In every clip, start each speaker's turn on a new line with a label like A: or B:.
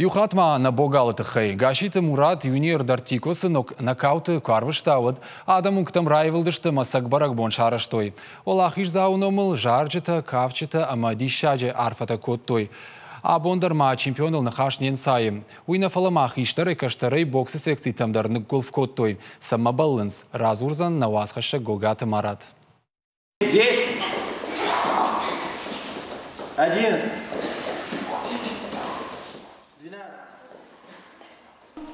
A: Иу хатт ма нӕ богалы тыххӕй. Гасситы Мурат юниор Дартикосы нокауты куы арвыста, уӕд адӕм уынгтӕм раивылдысты ӕмӕ цӕг бӕрӕгбон сарӕзтой. Уӕлахиздзауы номыл зарджытӕ, кафджытӕ ӕмӕ диссаджы арфӕтӕ кодтой. Абон дӕр ма чемпионыл ныхас не нцайы. Уый нӕ фӕлӕ ма хистӕрӕй-кӕстӕрӕй боксы секцитӕм дӕр ныггуылф кодтой. Цӕмӕ бӕллынц, радзурдзӕн нӕ уацхӕссӕг Гогаты Марат.
B: 10, 11, 12.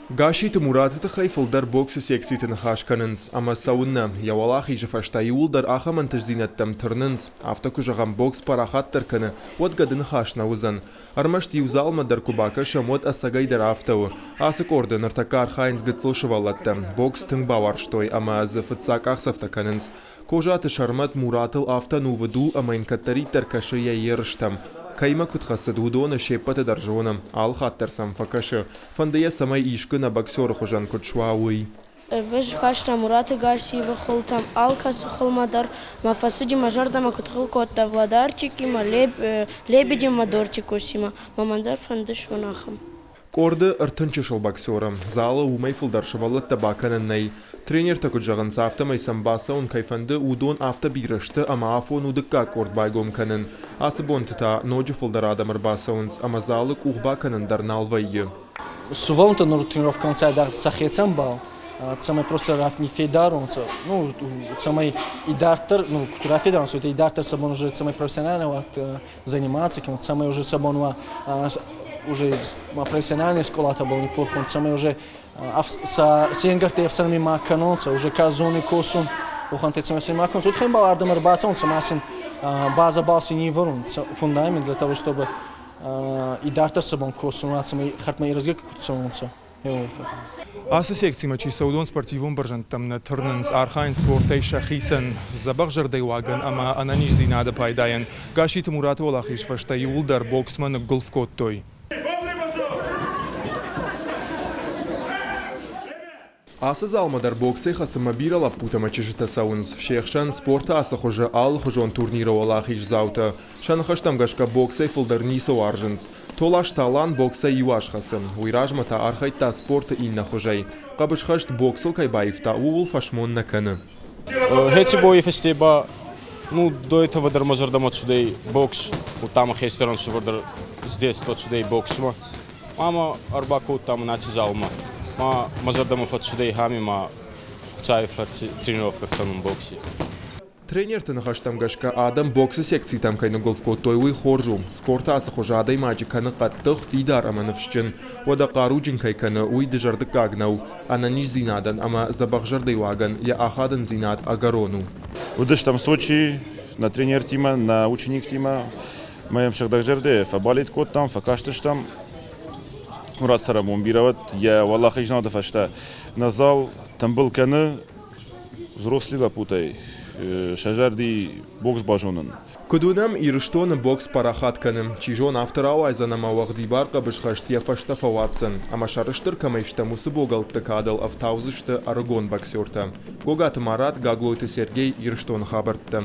C: Гасситы Мураты тыххӕй фылдӕр боксы секциты ныхас кӕнынц, ӕмӕ цӕуыннӕ, йӕ уӕлахизы фӕстӕ иууылдӕр ахӕм ӕнтыстдзинӕдтӕм тырнынц. Афтӕ куы зӕгъӕм, бокс парахатдӕр кӕны, уӕд гӕды ныхас нӕ уыдзӕн. Ӕрмӕст иу залмӕ дӕр куы бакӕсӕм, уӕд ӕцӕгӕйдӕр афтӕ у. Ацы къорды ныртӕккӕ архайынц гыццыл сывӕллӕттӕ. Бокс тынг бауарзтой ӕмӕ дзы фыццаг къахдзӕфтӕ кӕнынц. Козаты Сӕрмӕт Муратыл афтӕ ӕнувыд у, ӕмӕ йын кӕддӕриддӕр кӕсы йӕ ерыстӕм. Кӕимӕ куыд хӕцыд, уыдоны се ппӕты дӕр зоны, алы хатт дӕр сӕм фӕкӕсы. Фӕнды йӕ, цӕмӕй искуы нӕ боксеры хуызӕн куыд суа, уый.
D: Ӕз хаста Мураты Гассиевы хылтӕм, алкӕцы хылмӕ дӕр мӕ фӕцыди, мӕ зӕрдӕмӕ куыд хыл кодта Владарчикимӕ, Лебедимӕ, Дортикосимӕ. Мӕ дӕр фӕнды суын ахӕм.
C: Къорды 30 чысыл боксеры. Залы уымӕй фылдӕр сывӕллӕттӕ бакӕнӕн нӕй. Тренертӕ куыд зӕгъынц, афтӕмӕй сӕм бацӕуын кӕй фӕнды, уыдон афтӕ бирӕ сты, ӕмӕ афон у дыккаг къорд байгом кӕнын. Ацы бонты та ноджы фылдӕр адӕм ӕрбацӕуынц, ӕмӕ залы къух бакӕнын дӕр нал вӕййы.
E: Сувӕллӕнттӕ нур тренировкӕ цайдагъ сӕхецӕн бал, цӕмӕй просто ниффедар унцӕ, ну, цӕмӕй идарддӕр, ну, куд рафедар унцӕ, идарддӕр сӕ бон уже цӕмӕй профессионально заниматься, цӕмӕй уже сӕ бон уа уже профессиональный скъолатӕбӕл ниппурх ун, цӕмӕй уже се нгӕртти ӕфсӕрми ма кӕнонцӕ, уже ка зони косун, уӕхӕнтӕ цӕмӕй син ма кӕнонцӕ. Уотӕ бал ардӕмӕ ӕрбацӕунцӕ ма син базӕбӕл син ивӕрун фундамент для того, чтобы идарддӕр сӕ бон косун уа, цӕмӕй хӕрдмӕ ирӕзгӕ куд цӕуонцӕ.
C: Ацы секцимӕ чи цӕуы, уыдон спортивон бӕрзӕндтӕм нӕ тырнынц, архайынц спортӕй сӕхицӕн, дзӕбӕх зӕрдӕйуагӕн ӕмӕ ӕнӕниздзинады пайдайӕн. Гасситы Мураты уӕлахиз фӕстӕ иууылдӕр боксмӕ ныггуылф кодтой. Ацы залмӕ дӕр боксӕй хӕцынмӕ бирӕ лӕппутӕ ӕмӕ чызджытӕ цӕуынц. Се хсӕн спорты ацы хуызы алыхуызон турниры уӕлахиздзаутӕ. Сӕ ныхӕстӕм гӕсгӕ боксӕй фылдӕр ницы уарзынц. Толасты Алан боксӕй иу аз хӕцы. Уый размӕ та архайдта спорты иннӕ хуызӕй. Хъӕбысхӕст боксыл кӕй баивта, ууыл фӕсмон нӕ кӕны.
F: Хеци бойи фӕсте ба, ну, до этого дӕр мӕ зӕрдӕмӕ цудӕй бокс, удта мӕ хестӕр ӕнсувӕр дӕр с детства цудӕй боксмӕ. Ӕма ӕрбакодта мӕ аци залмӕ. Ма мӕ зӕрдӕмӕ фӕццудӕй ами ма Хуцауи фӕрци тренировкӕ кӕнун бокси.
C: Тренерты ныхӕстӕм гӕсгӕ, адӕм боксы секцитӕм кӕй ныггуылф кодтой, уый хорз у. Спорты ацы хуызы адӕймаджы кӕны хъӕддых, фидар ӕмӕ ныфсджын. Уӕдӕ хъаруджын кӕй кӕны, уый дызӕрдыггаг нӕу. Ӕнӕниздзинадӕн ӕмӕ дзӕбӕх зӕрдӕйуагӕн йӕ ахадындзинад ӕгӕрон у.
G: Уыдыстӕм Сочийы нӕ тренертимӕ, нӕ учениктимӕ. Мӕ йӕм сыгъдӕгзӕрдӕйӕ фӕбалет кодтам, фӕкастыстӕм. Мурат цӕрӕнбон бирӕ уӕд. Йӕ уӕлахизнады фӕстӕ нӕ зал тымбыл кӕны взрослый лӕппутӕй сӕ зӕрди бокс базонын.
C: Куыд уынӕм, Ирыстоны бокс парахат кӕны. Чи зоны, афтӕ рауайдзӕн ӕмӕ уӕгъдибар хъӕбысхӕст йӕ фӕстӕ фӕуадздзӕн. Ӕмӕ сӕрыстыр кӕмӕй стӕм, уыцы богӕлтты кадыл ӕфтаудзысты ӕрыгон боксертӕ. Гогаты Марат, Гаглойты Сергей, Ирыстоны хабӕрттӕ.